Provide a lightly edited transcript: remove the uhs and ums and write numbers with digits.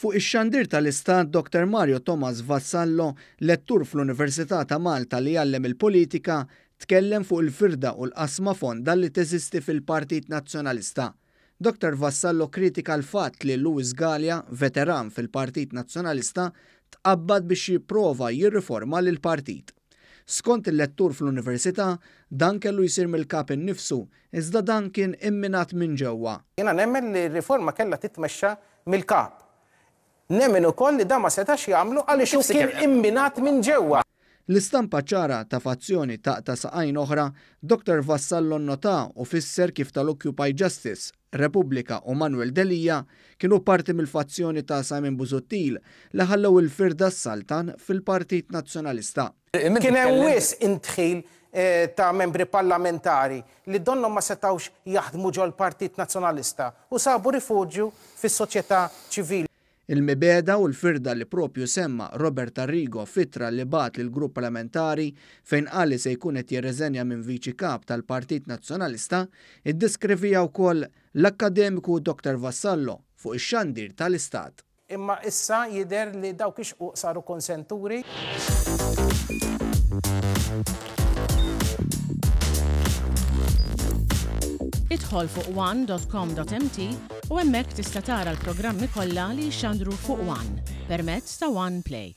Fuq ix-xandir tal-Istat, Dr Mario Thomas Vassallo, lettur fl-Università ta' Malta li jgħallem il-politika, tkellem fuq il-firda u l-qasma fonda li teżisti fil-Partit Nazzjonalista. Dr Vassallo kkritika l-fatt li Louis Galea, veteran fil-Partit Nazzjonalista, tqabbad biex jipprova jirriforma lill-partit. Skont il-lettur fl-Università, dan kellu jsir mill-Kap innifsu, iżda dan kien imminat minn ġewwa. Jiena nemmen li r-riforma kellha titmexxa mill-Kap. Nemmen ukoll li dan ma setax jagħmlu għaliex hu kien imminat minn ġewwa. L-istampa ċara ta' fazzjoni taqta' saqajn oħra, Dottor Vassallo nnota u fisser kif tal-Occupy Justice, Repubblika u Manuel Delia kienu parti mill-fazzjoni ta' Simon Busuttil li ħallew il-firda ssaltan fil-Partit Nazzjonalista. Kien hemm wisq indħil ta' membri parlamentari li donnhom ma setgħux jaħdmu ġol-Partit Nazzjonalista u sabu rifuġju fis-soċjetà ċivili. Il-mibegħda u l-firda li propju semma Robert Arrigo f'ittra li bagħat lill-grupp parlamentari fejn qal li se jkun qed jirriżenja minn Viċi Kap tal-Partit Nazzjonalista, iddeskriviha wkoll l-akkademiku Dr Vassallo fuq ix-xandir tal-Istat. Imma issa jidher li dawk ix-xquq saru konsenturi. Idħol fuq one.com.mt u hemmhekk tista' tara l-programmi kollha li jixxandru fuq One permezz ta' One Play.